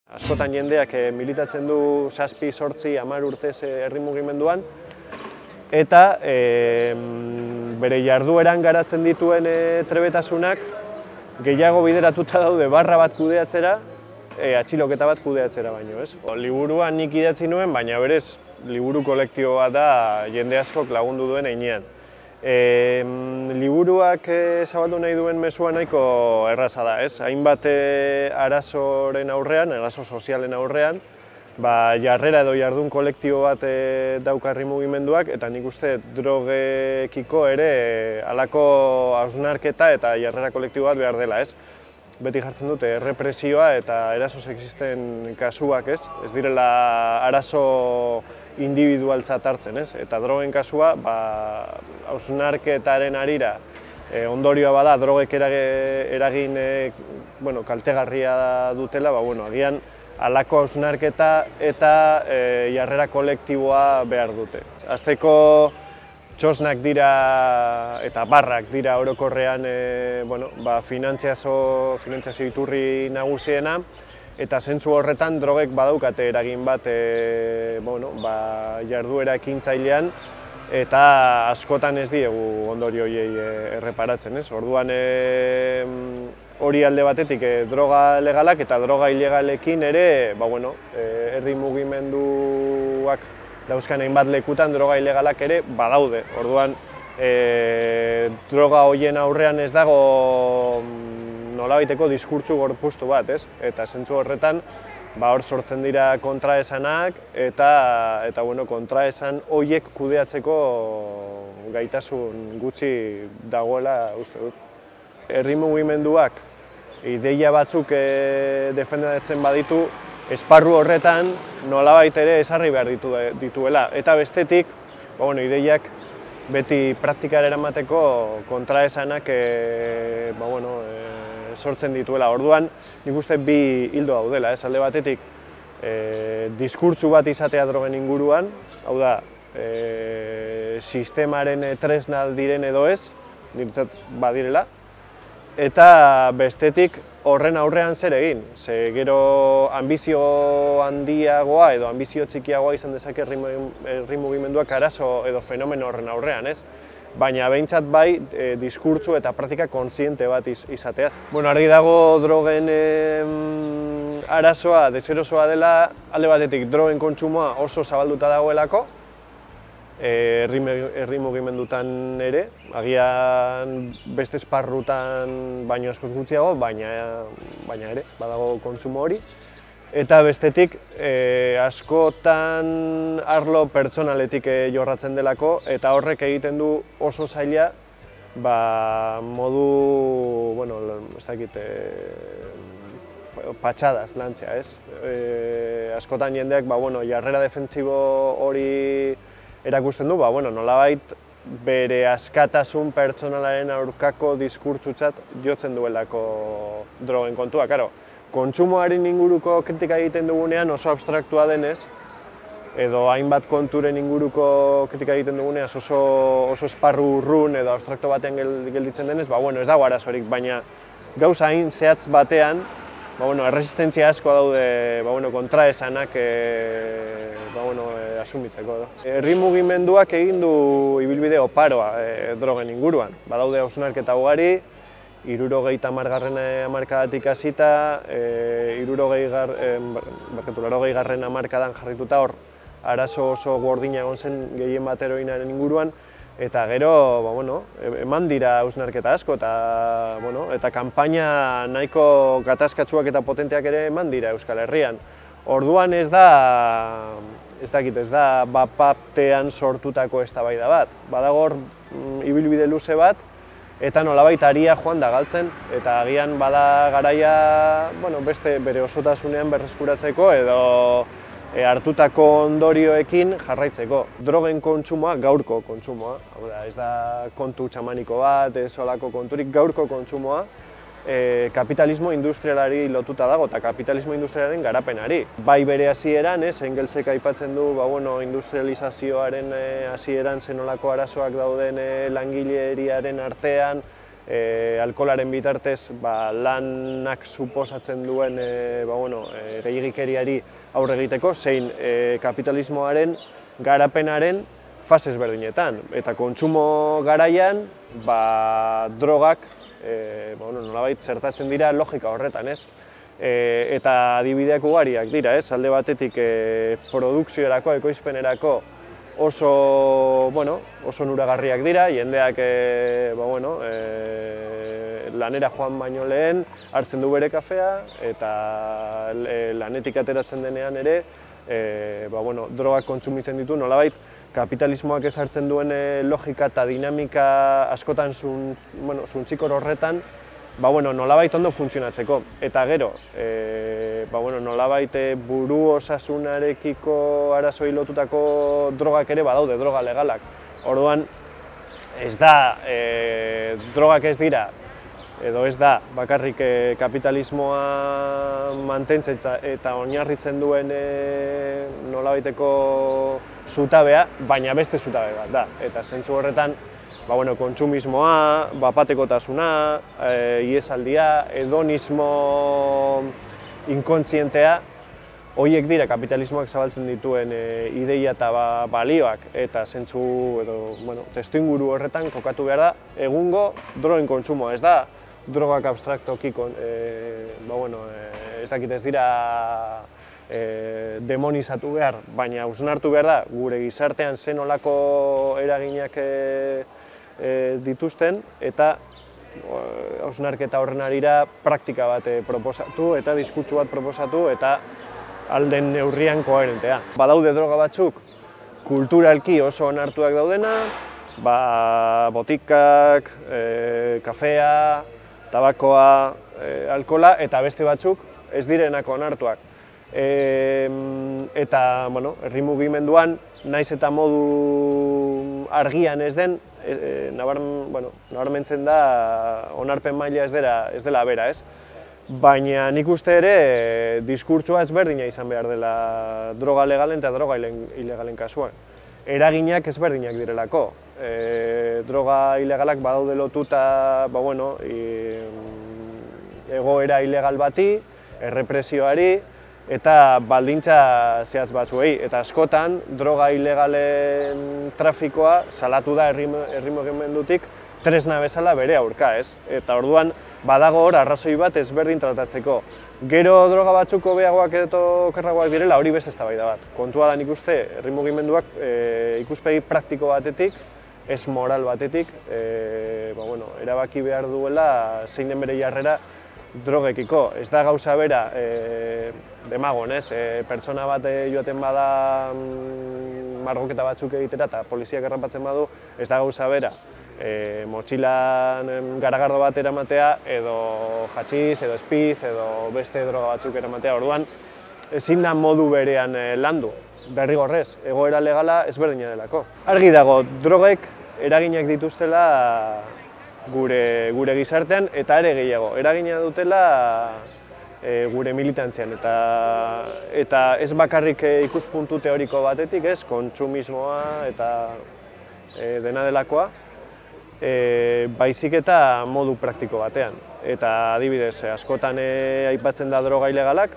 Askotan jendeak militatzen du 7, 8, 10 urtez herri mugimenduan eta bere jardueran garatzen dituen trebetasunak gehiago bideratuta daude barra bat kudeatzera, atxiloketa bat kudeatzera baino, ez? Liburuan nik idatzi nuen, baina berez liburu kolektiboa da jende askok lagundu duen heinean. Liburuak zabaldu nahi duen mezua nahiko erraza da, ez? Hainbat arazoren aurrean, arazo sozialen aurrean, jarrera edo jardun kolektibo bat dauka herri mugimenduak, eta nik uste drogekiko ere halako hausnarketa eta jarrera kolektibo bat behar dela, ez? Beti jartzen dute errepresioa eta eraso sexisten kasuak, ez? Ez direla arazo individualtzat hartzen, ez? Eta drogen kasua, hausnarketaren harira ondorioa bada drogek eragin kaltegarria dutela, agian halako hausnarketa eta jarrera kolektiboa behar dute. Hasteko txosnak dira eta barrak dira orokorrean finantzazio iturri nagusiena, eta zentzu horretan drogek badaukate eragin bat jarduera ekintzailean, eta askotan ez diegu ondorio horiei erreparatzen, ez? Orduan hori alde batetik droga legalak eta droga ilegalekin ere herri mugimenduak dauzkan hainbat lekutan droga ilegalak ere badaude. Orduan droga horien aurrean ez dago nolabaiteko diskurtsu gorpuztu bat, ez? Eta zentzu horretan hor sortzen dira kontraesanak eta kontraesan horiek kudeatzeko gaitasun gutxi dagoela uste dut. Herri mugimenduak ideia batzuk defendatzen baditu, esparru horretan nolabait ere ezarri behar dituela. Eta bestetik, ideiak beti praktikara eramateko kontraesanak sortzen dituela. Orduan, nik uste bi hildo daudela, ez? Alde batetik, diskurtsu bat izatea drogen inguruan, hau da, sistemaren tresna diren edo ez, niretzat badirela, eta bestetik horren aurrean zer egin. Ze gero anbizio handiagoa edo anbizio txikiagoa izan dezake herri mugimenduak arazo edo fenomeno horren aurrean, ez? Baina behintzat bai diskurtsu eta praktika kontziente bat izatea. Argi dago drogen arazoa, deserosoa dela, alde batetik drogen kontsumoa oso zabalduta dagoelako, herri mugimendutan ere, agian beste esparrutan baino askoz gutxiago, baina ere, badago kontsumo hori. Eta bestetik, askotan arlo pertsonaletik jorratzen delako, eta horrek egiten du oso zaila modu, ez dakit, patxadaz lantzea, ez? Askotan jendeak, jarrera defentsibo hori erakusten du, nolabait bere askatasun pertsonalaren aurkako diskurtsutzat jotzen duelako drogen kontua. Kontsumoaren inguruko kritika egiten dugunean oso abstraktua denez, edo hainbat konturen inguruko kritika egiten dugunean oso esparru urrun edo abstrakto batean gelditzen denez, ez dago arazorik, baina gauza hain zehatz batean, erresistentzia asko daude kontraesanak asumitzeko. Herri mugimenduak egin du ibilbide oparoa drogen inguruan. Badaude hausnarketa ugari, 70. hamarkadatik hasita, 80. hamarkadan jarrituta hor arazo oso gordina egon zen gehien bat heroinaren inguruan, eta gero eman dira hausnarketa asko eta kanpaina nahiko gatazkatsuak eta potenteak ere eman dira Euskal Herrian. Orduan ez da bat-batean sortutako eztabaida bat. Badago hor ibilbide luze bat, eta nolabait aria joan da galtzen, eta agian bada garaia beste bere osotasunean berreskuratzeko edo hartutako ondorioekin jarraitzeko. Drogen kontsumoa, gaurko kontsumoa, ez da kontu txamaniko bat, ez olako konturik, gaurko kontsumoa kapitalismo industrialari lotuta dago eta kapitalismo industrialaren garapenari. Bai bere hasieran, Engelsek aipatzen du industrializazioaren hasieran zenolako arazoak dauden langileriaren artean, alkoholaren bitartez lanak suposatzen duen gehiegikeriari aurre egiteko, zein kapitalismoaren garapenaren fase ezberdinetan. Eta kontsumo garaian drogak nolabait zertatzen dira logika horretan, ez? Eta adibideak ugariak dira, ez? Alde batetik produkziorako, ekoizpenerako oso onuragarriak dira, jendeak lanera joan baino lehen hartzen du bere kafea eta lanetik ateratzen denean ere drogak kontsumitzen ditu, nolabait kapitalismoak ezartzen duen logika eta dinamika askotan suntzikor horretan nolabait ondo funtzionatzeko. Eta gero, nolabait buru osasunarekiko arazoi lotutako drogak ere badaude, droga legalak. Orduan, ez da, drogak ez dira, edo ez da, bakarrik kapitalismoa mantentzen eta oinarritzen duen nolabaiteko zutabea, baina beste zutabe bat da. Eta zentzu horretan, kontsumismoa, bapatekotasuna, iesaldia, hedonismo inkontzientea, horiek dira kapitalismoak zabaltzen dituen ideia eta balioak, eta zentzu testuinguru horretan kokatu behar da egungo drogen kontsumoa. Ez da drogak abstraktoki, ez dakit ez dira demonizatu behar, baina hausnartu behar da gure gizartean zen olako eraginak dituzten, eta hausnarketa horren arira praktika bat proposatu eta diskurtso bat proposatu eta alden neurrian koherentea. Badaude droga batzuk kulturalki oso onartuak daudena, botikak, kafea, tabakoa, alkohola, eta beste batzuk ez direnako onartuak. Eta herri mugimenduan, naiz eta modu argian ez den, nabarmentzen da onarpen maila ez dela bera, ez? Baina nik uste ere diskurtsoa ezberdina izan behar dela droga legalen eta droga ilegalen kasuan. Eraginak ezberdinak direlako. Droga ilegalak badaude lotuta egoera ilegal bati, errepresioari, eta baldintza zehatz batzuei. Eta askotan, droga ilegalen trafikoa salatu da herri mugimendutik tresna bezala bere aurka, ez? Eta orduan, badago hor arrazoi bat ezberdin tratatzeko. Gero droga batzuk hobeagoak edo okerragoak direla, hori beste eztabaida bat. Kontua da nik uste, herri mugimenduak ikuspegi praktiko batetik, ez moral batetik, erabaki behar duela zein den bere jarrera drogekiko. Ez da gauza bera, demagon, ez? Pertsona bat joaten bada margoketa batzuk egitera eta poliziak errapatzen badu, ez da gauza bera. Motxilan garagardo bat eramatea, edo hatxiz, edo espiz, edo beste droga batzuk eramatea. Orduan, ezin da modu berean landu. Derrigorrez, egoera legala ezberdina delako. Argi dago, drogek eraginak dituztela gure gizartean, eta ere gehiago. Eragina dutela gure militantzian, eta ez bakarrik ikuspuntu teoriko batetik, ez, kontsumismoa eta dena delakoa, baizik eta modu praktiko batean. Eta adibidez, askotan aipatzen da droga ilegalak,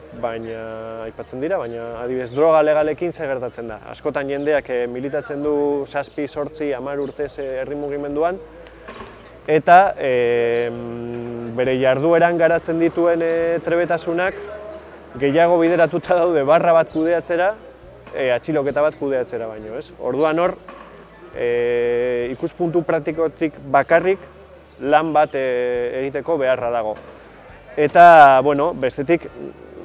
aipatzen dira, baina adibidez droga legalekin zer gertatzen da. Askotan jendeak militatzen du 7, 8, 10 urtez herri mugimenduan, eta bere jardueran garatzen dituen trebetasunak gehiago bideratuta daude barra bat kudeatzera, atxiloketa bat kudeatzera baino, ez? Orduan hor, ikuspuntu praktikotik bakarrik lan bat egiteko beharra dago. Eta, bestetik,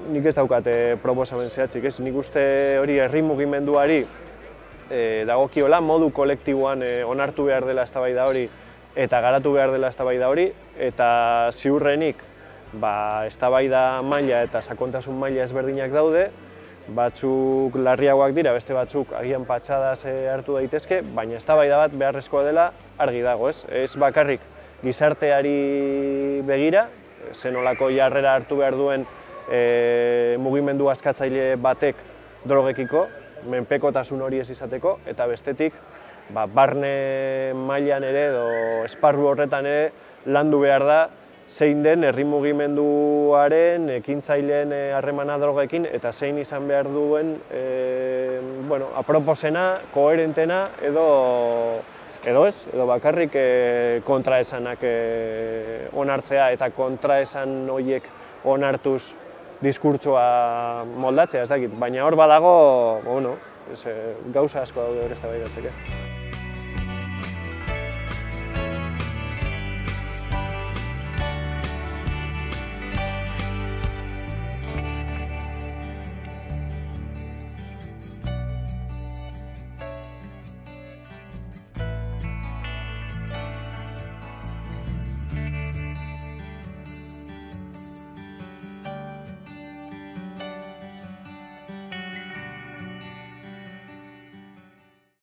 nik ez daukat proposamen zehatzik, ez? Nik uste hori herri mugimenduari dagokiola, modu kolektiboan onartu behar dela eztabaida hori eta garatu behar dela eztabaida hori, eta ziurrenik eztabaida maila eta sakontasun maila ezberdinak daude, batzuk larriagoak dira, beste batzuk agian patxadaz hartu daitezke, baina eztabaida bat beharrezkoa dela argi dago, ez? Ez bakarrik gizarteari begira, zenolako jarrera hartu behar duen mugimendu askatzaile batek drogekiko, menpekotasun hori ez izateko, eta bestetik barne mailan ere edo esparru horretan ere landu behar da, zein den herri mugimenduaren, ekintzaileen harremana drogekin, eta zein izan behar duen aproposena, koherentena, edo bakarrik kontraesanak onartzea eta kontraesan horiek onartuz diskurtsoa moldatzea, ez dakit. Baina hor badago, gauza asko daude hor eztabaidatzeke.